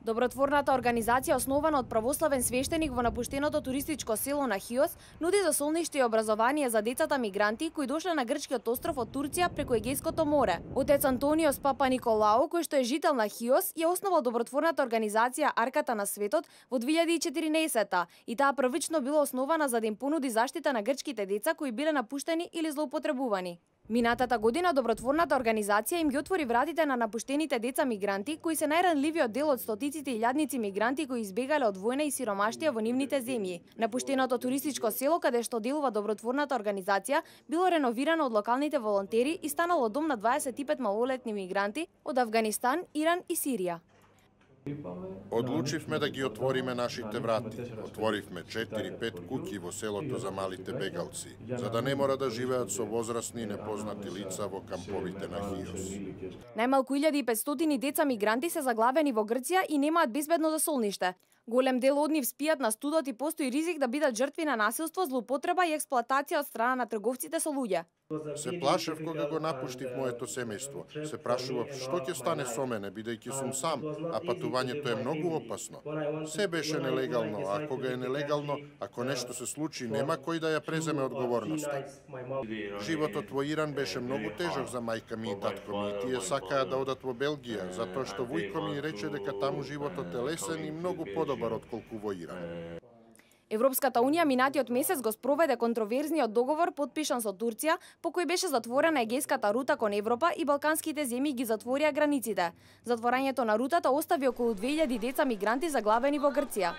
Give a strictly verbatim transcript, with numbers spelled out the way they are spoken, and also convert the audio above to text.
Добротворната организација, основана од православен свештеник во напуштеното туристичко село на Хиос, нуди засолниште и образование за децата мигранти кои дошле на грчкиот остров од Турција преку Егејското море. Отец Антониос Папа Николао, кој што е жител на Хиос, ја основал добротворната организација Арката на светот во две илјади и четирнаесетта и таа првично била основана за да им понуди заштита на грчките деца кои биле напуштени или злоупотребувани. Минатата година добротворната организација им ги отвори вратите на напуштените деца мигранти, кои се најранливиот дел од стотиците илјадници мигранти кои избегале од војна и сиромаштија во нивните земји. Напуштеното туристичко село каде што делува добротворната организација било реновирано од локалните волонтери и станало дом на дваесет и пет малолетни мигранти од Авганистан, Иран и Сирија. Одлучивме да ги отвориме нашите врати. Отворивме четири-пет куќи во селото за малите бегалци, за да не мора да живеат со возрастни и непознати лица во камповите на Хиос. Најмалку илјада и петстотини деца мигранти се заглавени во Грција и немаат безбедно засолниште. Голем дел од нив спијат на студот и постои ризик да бидат жртви на насилство, злоупотреба и експлоатација од страна на трговците со луѓе. Се плашев кога го напуштив моето семејство. Се прашував што ќе стане со мене, бидејќи сум сам, а патувањето е многу опасно. Се беше нелегално, а кога е нелегално, ако нешто се случи, нема кој да ја преземе одговорноста. Животот во Иран беше многу тежок за мајка ми и татко ми, и тие сакаа да одат во Белгија, затоа што вујко ми рече дека таму животот е лесен и многу подобар отколку во Иран. Европската унија минатиот месец го спроведе контроверзниот договор подпишан со Турција, по кој беше затворена егејската рута кон Европа и балканските земји ги затворија границите. Затворањето на рутата остави околу две илјади деца мигранти заглавени во Грција.